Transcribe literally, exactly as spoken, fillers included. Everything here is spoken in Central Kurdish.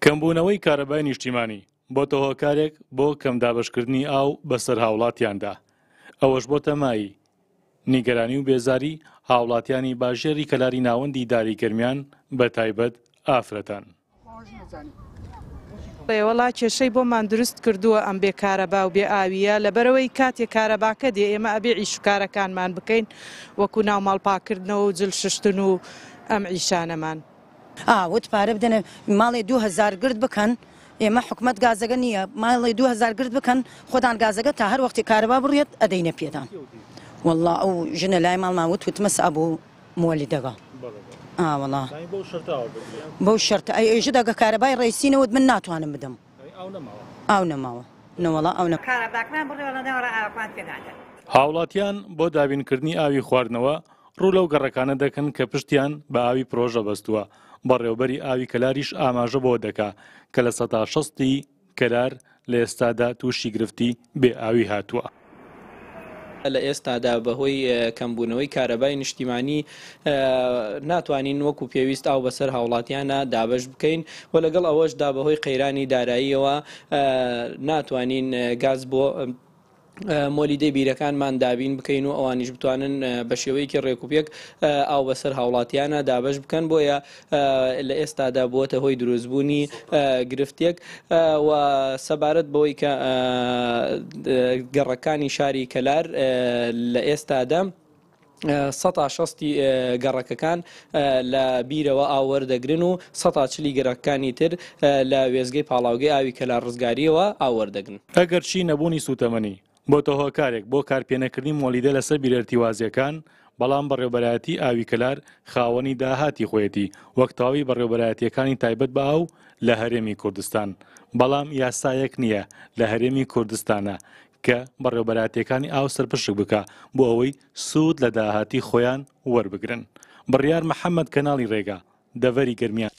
کەمبوونەوەی کارەبای نیشتیمانی بۆتە هۆکارێک بۆ کەم دابەشکردنی ئاو بەسەر هاوڵاتیاندا، ئەوەش بۆتە مایەی نیگەرانی و بێزاری هاوڵاتیانی باژێری کەلاری ناوەندی داری گەرمیان بە تایبەت ئافرەتان. وەڵا کێشەی بۆمان دروست کردووە ئەم بێ کارەبا و بێ ئاویە، لەبەرەوەی کاتێ کارەباکە دێ ئێمە ئەبێ ئیش و کارەکانمان بکەین وەکو ناو ماڵ پاکردنەوە و جل ششتن و ئەم ئیشانەمان. ئاوت پارە بدەنە ماڵێ دوو هەزار گرد بکەن، ئێمە حکومەت گازەکە نییە، ماڵێ دوو هەزار گرد بکەن خۆتان گازەکە تا هەر وەختی کارەبا بڕێت ئەدەینە پێدان. والله ئەو ژنە لای ماڵمان وت وتمە سا بۆ مۆلیدەگە. ئا وەڵا بەو شەرتە ئەی ئێژە دەگە کارەبای ڕێسینەوەت من ناتوانم بدەم. ئاو نەماوە. نەوەڵا ئەو نە کارەباکمان بڕێوە نەوەڵا ئاوەکمان پێنادەن. هاوڵاتیان بۆ دابینکردنی ئاوی خواردنەوە ڕوو لەو گەڕەکانە دەکەن کە پشتیان بە ئاوی پرۆژە بەستووە. بەڕێوبەری ئاوی کەلاریش ئاماژە بۆ دەکا کە لە سەدا شەستی کەلار لە ئێستادا تووشی گرفتی بێ ئاوی هاتووە. لە ئێستادا بەهۆی کەمبوونەوەی کارەبای نیشتیمانی ناتوانین وەکو پێویست ئاو بەسەر هاوڵاتیانە دابەش بکەین و لەگەڵ ئەوەشدا بەهۆی قەیرانی داراییەوە ناتوانین گاز بۆ مۆلیدەی بیرەکانمان دابین بکەین و ئەوانیش بتوانن بە شێوەیەکی ڕێکوپێک ئاو بەسەر هاوڵاتیانە دابەش بکەن. بۆیە لە ئێستادا بووەتە هۆی دروستبوونی گرفتێک و سەبارەت بەوەی کە گەڕەکانی شاری کەلار لە ئێستادا سەتا شەستی گەڕەکەکان لە بیرەوە ئاو وەردەگرن و سەتا چلی گەڕەکانی تر لە وێزگەی پاڵاوگەی ئاوی کەلار ڕزگاریەوە ئاو وەردەگرن. ئەگەرچی نەبوونی سوتەمەنی بۆتە هۆکارێک بۆ کارپێنەکردنی مۆلیدە لەسەر بیرەرتیوازیەکان، بەڵام بەڕێوبەرایەتی ئاوی کەلار خاوەنی داهاتی خۆیەتی وەک تەواوی بەڕێوبەرایەتیەکانی تایبەت بە ئاو لە هەرێمی کوردستان. بەڵام یاسایەک نییە لە هەرێمی کوردستانە کە بەڕێوبەرایەتیەکانی ئاو سەرپشک بکە بۆ ئەوەی سوود لە داهاتی خۆیان وەربگرن. بڕیار محەممەد، کەناڵی ڕێگا، دەڤەری گەرمیان.